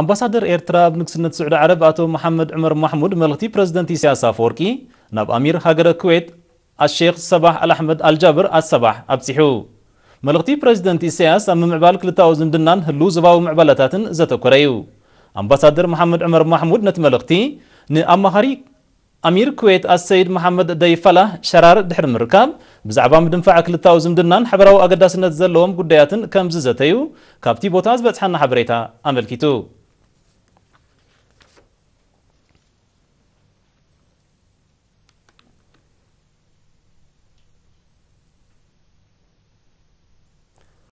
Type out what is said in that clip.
ኣምባሳደር ኤርትራ ኣብ ንግስነት ስዑዲ ዓረብ ኣቶ መሓመድ ዑመር ማሕሙድ መልእኽቲ ፕረዚደንት ኢሳያስ ኣፈወርቂ ናብ ኣሚር ሃገረ ኩዌት ኣሼኽ ሰባሕ ኣልኣሕመድ ኣልጃብር ኣሰባሕ ኣብጺሑ። መልእኽቲ ፕረዚደንት ኢሳያስ ኣብ ምምዕባል ክልታዊ ዝምድናን ህሉው ዞባዊ ምዕባለታትን ዘተኮረ እዩ። ኣምባሳደር መሓመድ ዑመር ማሕሙድ ነቲ መልእኽቲ ንኣማኻሪ ኣሚር ኩዌት ኣሰይድ መሓመድ ደይፈላህ ሸራር ድሕሪ ምርካብ፣ ብዛዕባ ምድንፋዕ ክልታዊ ዝምድናን ሓበራዊ ኣገዳስነት ዘለዎም ጉዳያትን ከም ዝዘተዩ ካብቲ ቦታ ዝበጽሓና ሓበሬታ ኣመልኪቱ።